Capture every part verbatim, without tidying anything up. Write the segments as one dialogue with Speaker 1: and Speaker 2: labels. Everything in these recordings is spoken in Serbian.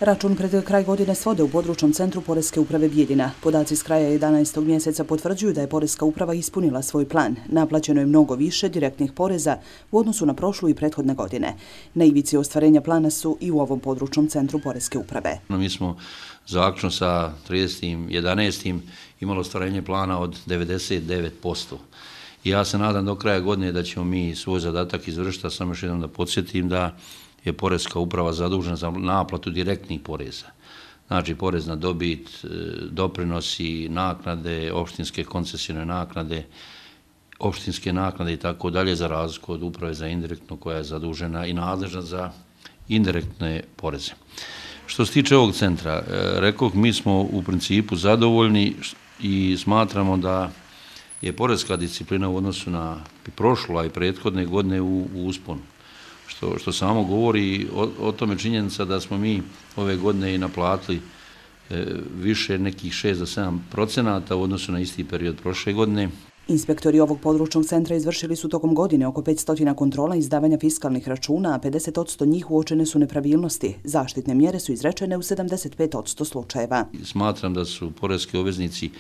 Speaker 1: Račun pred kraj godine svode u područnom centru Poreske uprave Bijeljina. Podaci s kraja jedanaestog mjeseca potvrđuju da je Poreska uprava ispunila svoj plan. Naplaćeno je mnogo više direktnih poreza u odnosu na prošlu i prethodne godine. Na ivici ostvarenja plana su i u ovom područnom centru Poreske uprave.
Speaker 2: Mi smo zaključno sa tridesetim jedanaestim imali ostvarenje plana od devedeset devet posto. I ja se nadam do kraja godine da ćemo mi svoj zadatak izvršiti, a samo još jednom da podsjetim da je Poreska uprava zadužena za naplatu direktnih poreza. Znači, porez na dobit, doprinosi, naknade, opštinske koncesijne naknade, opštinske naknade i tako dalje, za razliku od uprave za indirektno koja je zadužena i nadležna za indirektne poreze. Što se tiče ovog centra, rekao, mi smo u principu zadovoljni i smatramo da je poreska disciplina u odnosu na prošlu, a i prethodne godine u, u usponu. Što, što samo govori o, o tome činjenica da smo mi ove godine i naplatili e, više nekih šest do sedam procenata u odnosu na isti period prošle godine.
Speaker 1: Inspektori ovog područnog centra izvršili su tokom godine oko petsto kontrola izdavanja fiskalnih računa, a pedeset posto njih uočene su nepravilnosti. Zaštitne mjere su izrečene u sedamdeset pet posto slučajeva.
Speaker 2: Smatram da su poreski obveznici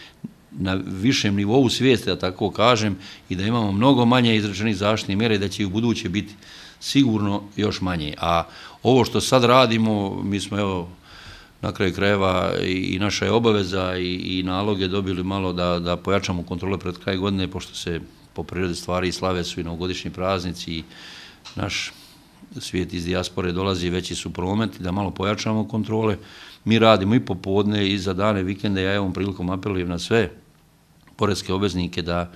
Speaker 2: na višem nivou svijesti, da tako kažem, i da imamo mnogo manje izrečenih zaštitnih mjera i da će i u buduće biti sigurno još manje. A ovo što sad radimo, mi smo evo na kraju krajeva i naša je obaveza i, i naloge dobili malo da, da pojačamo kontrole pred kraj godine, pošto se po prirodi stvari i slave su i novogodišnji praznici i naš svijet iz dijaspore dolazi, veći su prometi, da malo pojačamo kontrole. Mi radimo i popodne i za dane vikende, ja ovom prilikom apelujem na sve poreske obveznike da,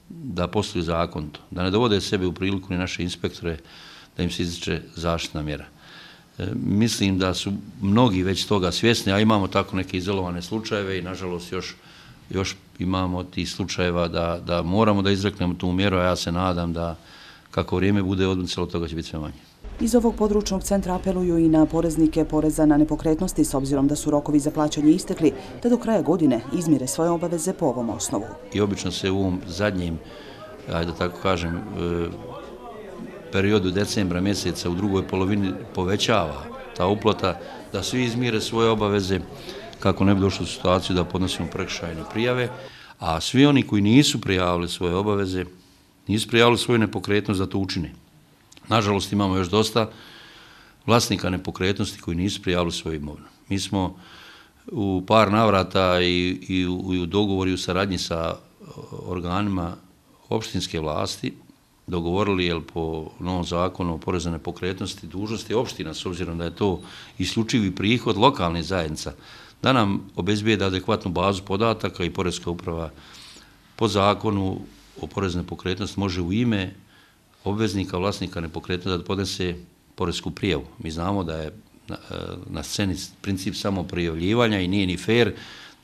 Speaker 2: da posluju zakonito, da ne dovode sebe u priliku ni naše inspektore da im se izriče zaštitna mjera. E, mislim da su mnogi već toga svjesni, a imamo tako neke izolovane slučajeve i nažalost još, još imamo tih slučajeva da, da moramo da izreknemo tu mjeru, a ja se nadam da kako vrijeme bude odmicalo, toga će biti sve manje.
Speaker 1: Iz ovog područnog centra apeluju i na poreznike poreza na nepokretnosti, s obzirom da su rokovi za plaćanje istekli, da do kraja godine izmire svoje obaveze po ovom osnovu.
Speaker 2: I obično se u ovom zadnjem, ajde da tako kažem, periodu decembra mjeseca u drugoj polovini povećava ta uplata, da svi izmire svoje obaveze kako ne bi došli u situaciju da podnosimo prekršajne prijave, a svi oni koji nisu prijavili svoje obaveze, nisu prijavili svoju nepokretnost da to učine. Nažalost, imamo još dosta vlasnika nepokretnosti koji nisu prijavili svoju imovinu. Mi smo u par navrata i, i, u, i u dogovoru i u saradnji sa organima opštinske vlasti dogovorili, jel, po novom zakonu o porezu na nepokretnosti, dužnosti opština, s obzirom da je to isključivi prihod lokalnih zajednica, da nam obezbijede adekvatnu bazu podataka i Poreska uprava po zakonu o porezu na nepokretnost može u ime obveznika, vlasnika nepokretnosti da podnese poresku prijavu. Mi znamo da je na, na sceni princip samo prijavljivanja i nije ni fair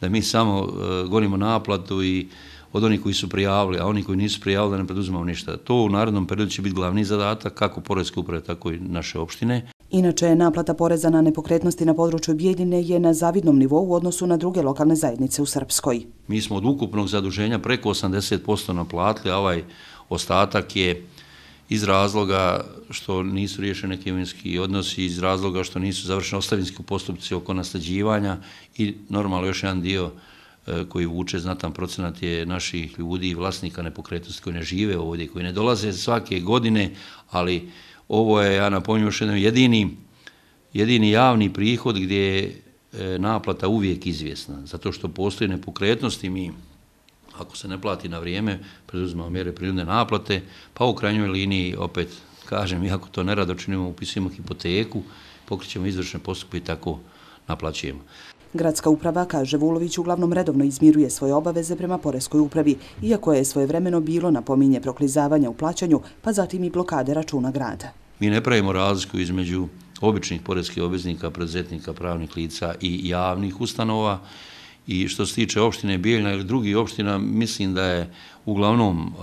Speaker 2: da mi samo uh, gonimo naplatu i od onih koji su prijavili, a oni koji nisu prijavili da ne preduzimamo ništa. To u narednom periodu će biti glavni zadatak kako Poreske uprave, tako i naše opštine.
Speaker 1: Inače, naplata poreza na nepokretnosti na području Bijeljine je na zavidnom nivou u odnosu na druge lokalne zajednice u Srpskoj.
Speaker 2: Mi smo od ukupnog zaduženja preko osamdeset posto naplatili, a ovaj ostatak je iz razloga što nisu riješeni neki imovinski odnosi, iz razloga što nisu završeni ostavinski postupci oko nasljeđivanja i normalno još jedan dio e, koji vuče znatan procenat je naših ljudi i vlasnika nepokretnosti koji ne žive ovdje, koji ne dolaze svake godine, ali ovo je, ja napominjem još jednom, jedini, jedini javni prihod gdje je e, naplata uvijek izvjesna, zato što postoji nepokretnosti. Mi, ako se ne plati na vrijeme, preduzimamo mjere prinudne naplate, pa u krajnjoj liniji, opet kažem, iako to nerado činimo, upisujemo hipoteku, pokrećemo izvršne postupke i tako naplaćujemo.
Speaker 1: Gradska uprava, kaže Vulović, uglavnom redovno izmiruje svoje obaveze prema Poreskoj upravi, iako je svojevremeno bilo napominje proklizavanja u plaćanju, pa zatim i blokade računa grada.
Speaker 2: Mi ne pravimo razliku između običnih poreskih obveznika, preduzetnika, pravnih lica i javnih ustanova. I što se tiče opštine Bijeljina ili drugih opština, mislim da je uglavnom uh,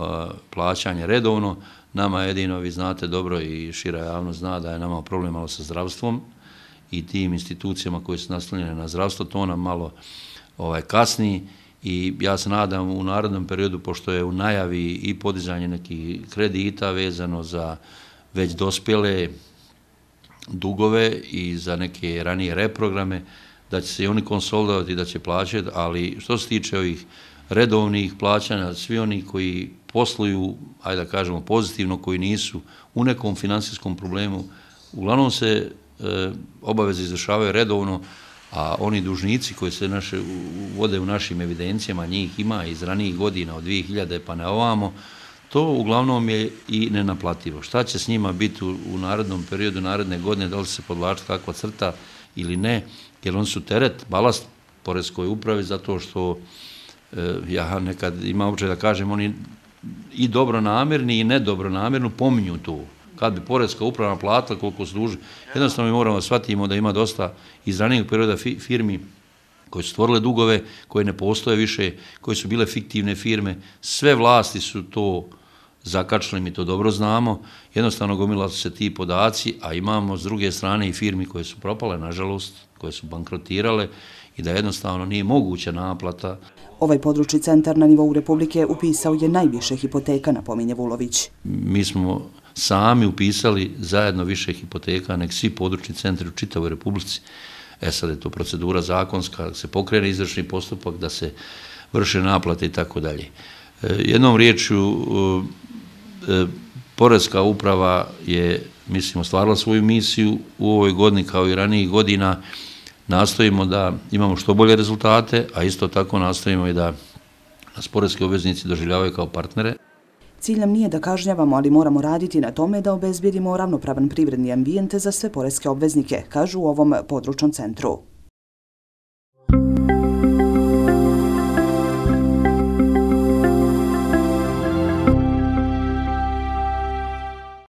Speaker 2: plaćanje redovno. Nama jedino, vi znate dobro i šira javnost zna da je nama problem malo sa zdravstvom i tim institucijama koje su naslonjene na zdravstvo, to nam malo ovaj, kasni i ja se nadam u narednom periodu, pošto je u najavi i podizanje nekih kredita vezano za već dospjele dugove i za neke ranije reprograme, da će se i oni konsolidovati, da će plaćati, ali što se tiče ovih redovnih plaćanja, svi oni koji posluju, ajde da kažemo pozitivno, koji nisu u nekom finansijskom problemu, uglavnom se e, obaveze izvršavaju redovno, a oni dužnici koji se naše, vode u našim evidencijama, njih ima iz ranijih godina, od dvije hiljade pa na ovamo, to uglavnom je i nenaplativo. Šta će s njima biti u, u narednom periodu, naredne godine, da li se podvlači kakva crta ili ne, jer oni su teret, balast poreskoj upravi, zato što e, ja nekad imam običaj da kažem, oni i dobronamerni i nedobronamerno pominju to. Kad bi poreska uprava naplatila koliko se duži, jednostavno mi moramo da shvatimo da ima dosta iz ranijeg perioda firmi koje su stvorile dugove, koje ne postoje više, koje su bile fiktivne firme. Sve vlasti su to zakačili, mi to dobro znamo. Jednostavno gomila su se ti podaci, a imamo s druge strane i firmi koje su propale, nažalost, koje su bankrotirale i da jednostavno nije moguća naplata.
Speaker 1: Ovaj područni centar na nivou Republike upisao je najviše hipoteka, napominje Vulović.
Speaker 2: Mi smo sami upisali zajedno više hipoteka nek svi područni centri u čitavoj Republici. E sad je to procedura zakonska, da se pokrene izvršni postupak, da se vrše naplate i tako dalje. Jednom riječju, poreska uprava je, mislim, ostvarila svoju misiju u ovoj godini kao i ranijih godina. Nastojimo da imamo što bolje rezultate, a isto tako nastojimo i da nas poreski obveznici doživljavaju kao partnere.
Speaker 1: Cilj nam nije da kažnjavamo, ali moramo raditi na tome da obezbijedimo ravnopravan privredni ambijent za sve poreske obveznike, kažu u ovom područnom centru.